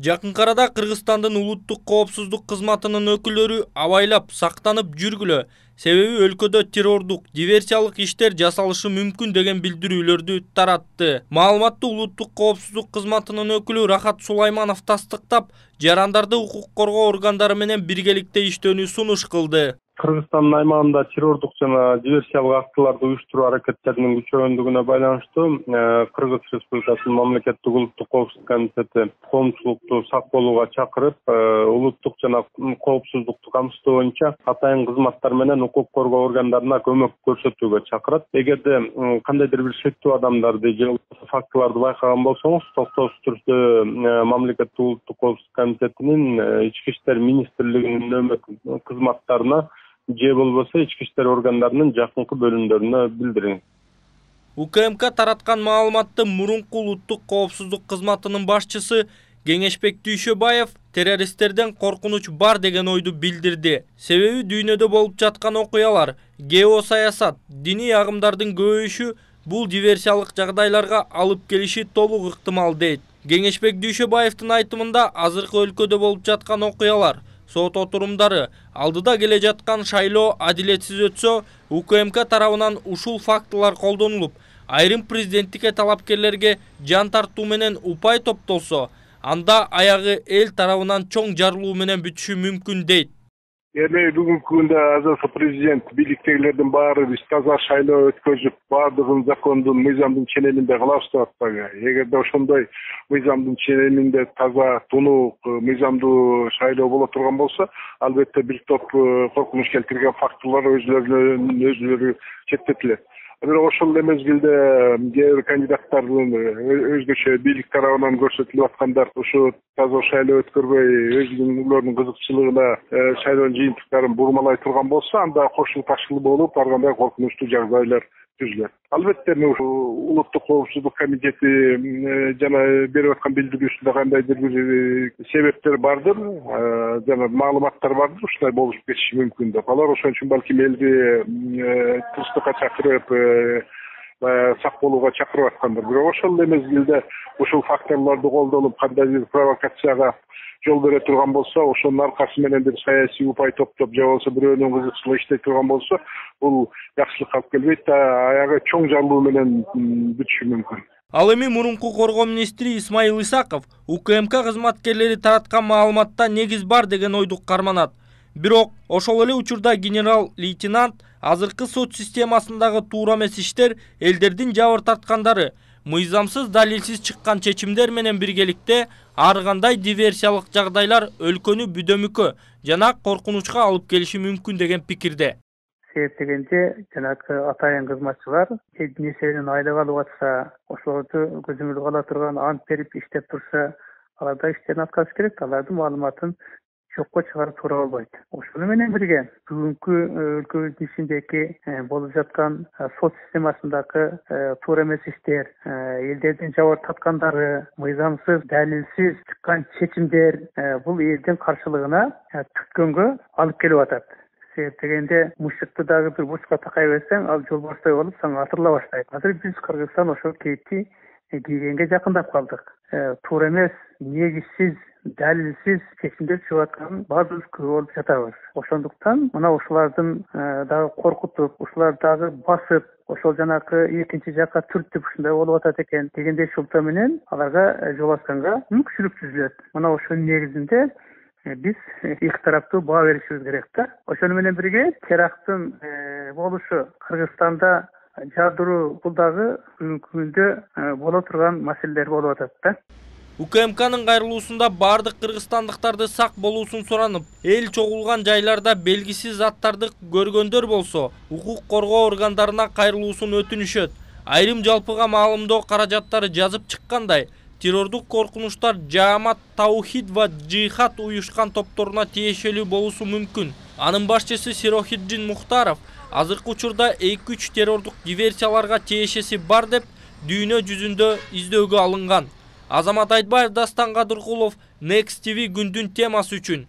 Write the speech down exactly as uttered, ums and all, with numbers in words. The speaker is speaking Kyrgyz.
Жакынкы арада Кыргызстандын улуттук коопсуздук кызматынын өкүлдөрү абайлап сактанып жүргүлө, себеби өлкөдө террордук, диверсиялык иштер жасалышы мүмкүн деген билдирүүлөрдү таратты. Маалыматты улуттук коопсуздук кызматынын өкүлү Рахат Сулайманов тастыктап, жарандарды укук коргоо органдары менен биргеликте иштөөнү сунуш кылды. Кыргызстандын аймагында террордук жана диверсиялык актыларды уюштуруу аракеттеринин күчөгөндүгүнө байланыштуу Кыргыз Республикасынын мамлекеттик улуттук коопсуздук комитети коомчулукту сак болууга чакырып, улуттук жана коопсуздукту камсыздоо боюнча атайын кызматтар менен укук коргоо органдарына көмөк көрсөтүүгө чакырат. Эгерде кандайдыр бир шектүү адамдарды же фактыларды байкаган болсоңуз, токтоосуз түрдө мамлекеттик улуттук коопсуздук комитетинин ички иштер министрлигинин нөмөр кызматтарына же болбосо ички иштер органдарынын жакынкы бөлүмдөрүнө билдириң. УКМК тараткан маалыматты мурунку улуттук коопсуздук кызматынын башчысы Кеңешбек Дүйшөбаев террористтерден коркунуч бар деген ойду билдирди. Себеби дүйнөдө болуп жаткан окуялар, геосаясат, диний агымдардын көбөйүшү бул диверсиялык жагдайларга алып келиши толук ыктымал дейт. Кеңешбек Дүйшөбаевдин айтымында азыркы өлкөдө болуп жаткан окуялар, сот отурумдары, алдыда келе жаткан шайлоо адилетсиз өтсө, УКМК тарабынан ушул фактылар колдонулуп, айрым президенттикке талапкерлерге жан тартуу менен упай топтолсо, анда аягы эл тарабынан чоң жарылуу менен бүтүшү мүмкүн дейт. Эми бүгүнкү күндө азыркы президент бийликтегилердин баары биз таза шайлоо өткөзүп, баардыгын закондун, мыйзамдын ченеминде кылабыз деп атпайбы? Эгерде ошондой мыйзамдын ченеминде таза, тунук, мыйзамдуу шайлоо боло турган болсо, албетте бир топ коркунуч келтирген фактылар өзүлөрүнөн өзүлөрү четтетилет. Бирок ошол эле мезгилде кээ бир кандидаттардын өзгөчө бийлик тарабынан көрсөтүлүп аткандар ушу таза шайлоо өткөрбөй өзүнүн кызыкчылыгына шайлоо жыйынтыктарын бурмалай турган болсо, анда кошул ташкыл болуп, ар кандай коркунучтуу жагдайлар түзүлөт. Албетте улуттук коопсуздук комитети жана берип аткан билдирүүсүндө кандайдыр бир себептер бардыр, жана маалыматтар бардыр, ушундай болуп кетиши мүмкүн деп. Алар ошон үчүн балким элди тынчтыкка чакырып, сак болууга чакырып аткандыр. Бирок ошол эле мезгилде ушул факторлорду колдонуп, кандайдыр провокацияга жол бере турган болсо, ошонун аркасы менен бир саясий упай топтоп, же болбосо бирөөнүн кызыкчылыгы иштей турган болсо, бул жакшылыкка алып келбейт, аягы чоң жарылуу менен бүтүшү мүмкүн. Ал эми мурунку коргоо министри Исмаил Исаков УКМК кызматкерлери тараткан маалыматта негиз бар деген ойду карманат. Бирок ошол эле учурда генерал-лейтенант азыркы сот системасындагы туура эмес иштер элдердин жабыр тарткандары, мыйзамсыз далилсиз чыккан чечимдер менен биргеликте ар кандай диверсиялык жагдайлар өлкөнү бүдөмүккө жана коркунучка алып келиши мүмкүн деген пикирде. Себеп дегенде жанагы атайын кызматчылар нерсенин айлык алып атса, ошолорду көзөмөл ала турган ант берип иштеп турса, аларда иштерин аткарыш керек, алардын маалыматын жокко чыгарып туура болбойт. Ошону менен бирге бүгүнкү өлкөбүздүн ичиндеги болуп жаткан сот системасындагы туура эмес иштер, элдердин жабыр тарткандары, мыйзамсыз, далилсиз чыккан чечимдер бул элдин каршылыгына түшкөнгө алып келип атат. Себеп дегенде мушукты дагы бир бурчка такай берсең, ал жол боштой болуп сага атырыла баштайт. Азыр биз Кыргызстан ошол кейипти кийгенге жакындап калдык. Туура эмес, негизсиз, далилсиз чечимдер чыгып атканын баардыгыбыз көрүп болуп жатабыз. Ошондуктан мына ушулардын дагы коркутуп, ушулар дагы басып, ошол жанакы экинчи жакка түртүп ушундай болуп атат экен дегендей шылтоо менен аларга жол ачканга мүмкүнчүлүк түзүлөт. Мына ошонун негизинде биз эки тараптуу баа беришибиз керек да. Ошону менен бирге теракттын болушу Кыргызстанда жардыруу бул дагы бүгүнкү күндө боло турган маселелер болуп атат да. УКМКнын кайрылуусунда бардык кыргызстандыктарды сак болуусун суранып, эл чогулган жайларда белгисиз заттарды көргөндөр болсо, укук коргоо органдарына кайрылуусун өтүнүшөт. Айрым жалпыга маалымдоо каражаттары жазып чыккандай, террордук коркунучтар Жаамат Таухид ва Джихад уюшкан топторуна тиешелүү болуусу мүмкүн. Анын башчысы Сирохиддин Мухтаров азыркы учурда эки үч террордук диверсияларга тиешеси бар деп дүйнө жүзүндө издөөгө алынган. Азамат Айтбаев, Дастан Кадыркулов, Next ти ви күндүн темасы үчүн.